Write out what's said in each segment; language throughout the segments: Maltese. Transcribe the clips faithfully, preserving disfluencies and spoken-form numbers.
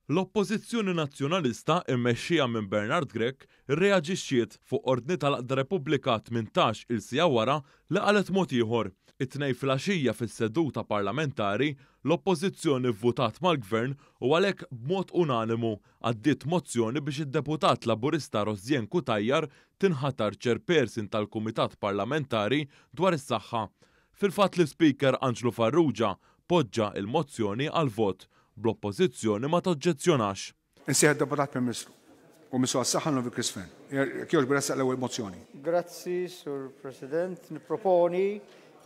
L-Oppożizzjoni Nazzjonalista mmexxija minn Bernard Grech irreaġixxiet fuq ordni tal-Għaqda Repubblika tmintax-il siegħa wara li qalet mod ieħor. It-Tnejn filgħaxija fis-seduta parlamentari, l-Oppożizzjoni vvutat mal-Gvern u għalhekk b'mod unanimu għaddiet mozzjoni biex id-deputat Laburista Rosianne Cutajar tinħatar chairperson tal-Kumitat Parlamentari dwar is-Saħħa. Fil-fatt l-Ispeaker Anġlu Farrugia poġġa il-mozzjoni għal vot bl-Oppożizzjoni ma toġġezzjonax. Insejjaħ deputat Prim Ministru u Ministru għas-Saħħa Novi Chris Fearne. Jekk jogħġbu ressaq l-ewwel mozzjoni. Grazzi, Sur President. Nipproponi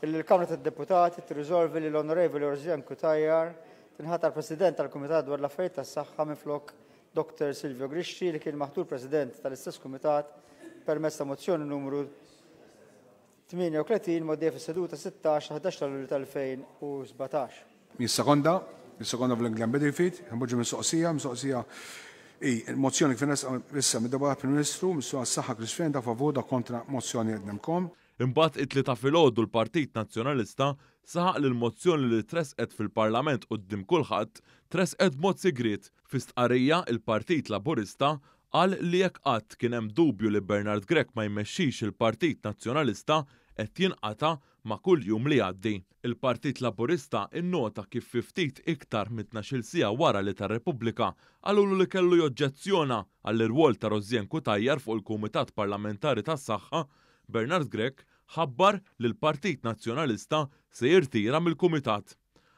li l-Kamra tad-Deputati tirriżolvi li l-Onorevoli Rosianne Cutajar tinħatar President tal-Kumitat dwar l-Affarijiet tas-Saħħa minflok Doktor Silvio Grixti li kien maħtur President tal-istess Kumitat permezz ta' mozzjoni numru tmienja u tletin mgħoddija fis-seduta sittax ta' ħdax ta' Lulju tal-elfejn u sbatax. Jissekonda, jissekonda fl-Glenn Bedingfield, npoġġu mistoqsija, mistoqsija i il-mozzjoni kif nresqa issa mid-Deputat Prim Ministru, Ministru għas-Saħħa Chris Fearne, ta' favur, da kontra mozzjoni qednemkom. Imbagħad it-Tlieta filgħodu l-Partit Nazzjonalista saħaq li l-mozzjoni li tresqet fil-Parlament quddiem kulħadd tresqet b'mod sigriet. Fi stqarrija il-Partit Laburista qal li jekk qatt kien hemm dubju li Bernard Grech ma jmexxix il-Partit Nazzjonalista qed jinqata' ma' kull jum li jgħaddi. Il-Partit Laburista innota kif fi ftit iktar minn tnax-il siegħa wara li tar-Repubblika qalulu li kellu joġġezzjona għall-irwol ta' Rosianne Cutajar fuq il-Kumitat Parlamentari tas-Saħħa, Bernard Grech ħabbar li l-Partit Nazzjonalista se jirtira mill-Kumitat.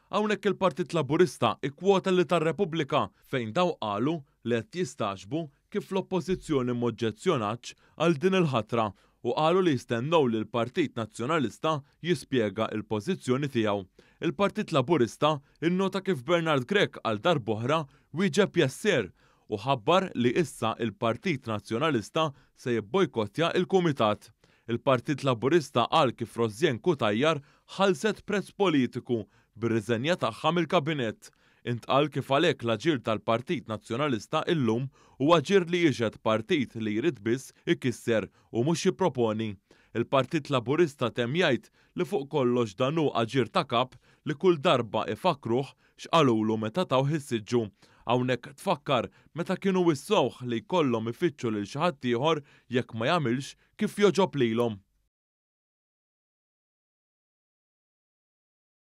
Hawnhekk il-Partit Laburista ikkwota li tar-Repubblika fejn daw qalu li qed jistagħġbu kif l-Oppożizzjoni m'oġġezzjonatx għal din il-ħatra u qalu li jistennew li l-Partit Nazzjonalista jispjega l-pożizzjoni tiegħu. Il-Partit Laburista innota kif Bernard Grech għal darb'oħra wieġeb jesser u ħabbar li issa il-Partit Nazzjonalista se jibbojkottja il-Kumitat. Il-Partit Laburista qal kif Rosianne Cutajar ħallset prezz politiku bir-riżenja tagħha mill-Kabinett. Intqal kif għalhekk l-aġir tal-Partit Nazzjonalista illum huwa aġir li jixhed partit li jrid biss ikisser u mhux jipproponi. Il-Partit Laburista temm jgħid li fuq kollox dan hu aġir ta' kap li kull darba ifakruh x'qalulu meta tawh is-siġġu. Hawnhekk tfakkar meta kienu wissewh li jkollhom ifittxu lil xi ħadd ieħor jekk ma jagħmilx kif jogħġob lilhom.